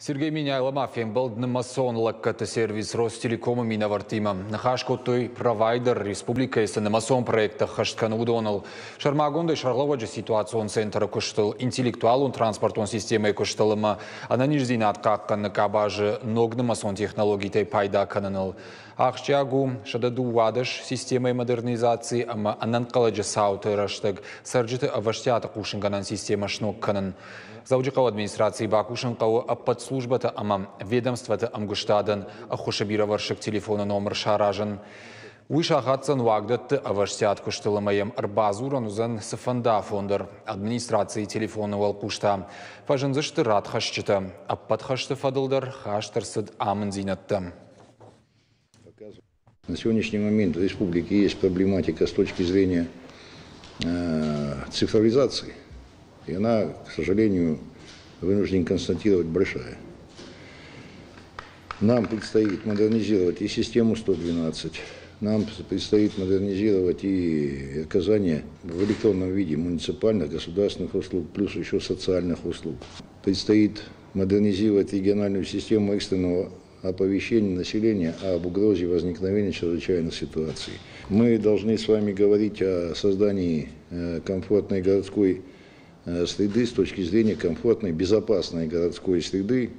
Сергей Меняйло ма фембӕлд нымӕцон лӕггӕдты сервис Ростелеком-ы минӕвӕрттимӕ. Ныхас кодтой, провайдер республикӕйы цы нымӕцон проекттӕ ӕххӕст кӕны, уыдоныл. Сӕрмагондӕй сӕргълӕууӕджы ситуацион центры куыстыл, интеллектуалон транспортон системӕйы куыстыл ӕмӕ ӕнӕниздзинад хъахъхъӕныны къабазы ног нымӕцон технологитӕй пайда кӕныныл. Ахсджиаг у 112 системӕйы модернизаци ӕмӕ ӕнӕнхъӕлӕджы цауты рӕстӕг цӕрджыты ӕвӕстиаты хъусынгӕнӕн системӕ сног кӕнын. Дзӕуджыхъӕуы администрацийы бакусын хъӕуы ӕппӕт службӕтӕ ӕмӕ ведомствӕты ӕмгуыстадӕн ӕххуысы бирӕвӕрсыг телефоны номыр саразын. Уый сахатдзӕн уагдӕтты ӕвӕстиат куыстыл ӕмӕ йӕм ӕрбадзурӕн уыдзӕн цыфӕнды афон дӕр. Администрацийы телефоны уӕлхъус та фӕзындзысты радхӕсджытӕ. Ӕппӕт хӕсты фӕдыл дӕр хаст ӕрцыд амындзинӕдтӕ. На сегодняшний момент в республике есть проблематика с точки зрения цифровизации. И она, к сожалению, вынужден констатировать, большая. Нам предстоит модернизировать и систему 112, нам предстоит модернизировать и оказание в электронном виде муниципальных, государственных услуг, плюс еще социальных услуг. Предстоит модернизировать региональную систему экстренного оповещения населения об угрозе возникновения чрезвычайных ситуаций. Мы должны с вами говорить о создании комфортной городской среды с точки зрения комфортной, безопасной городской среды.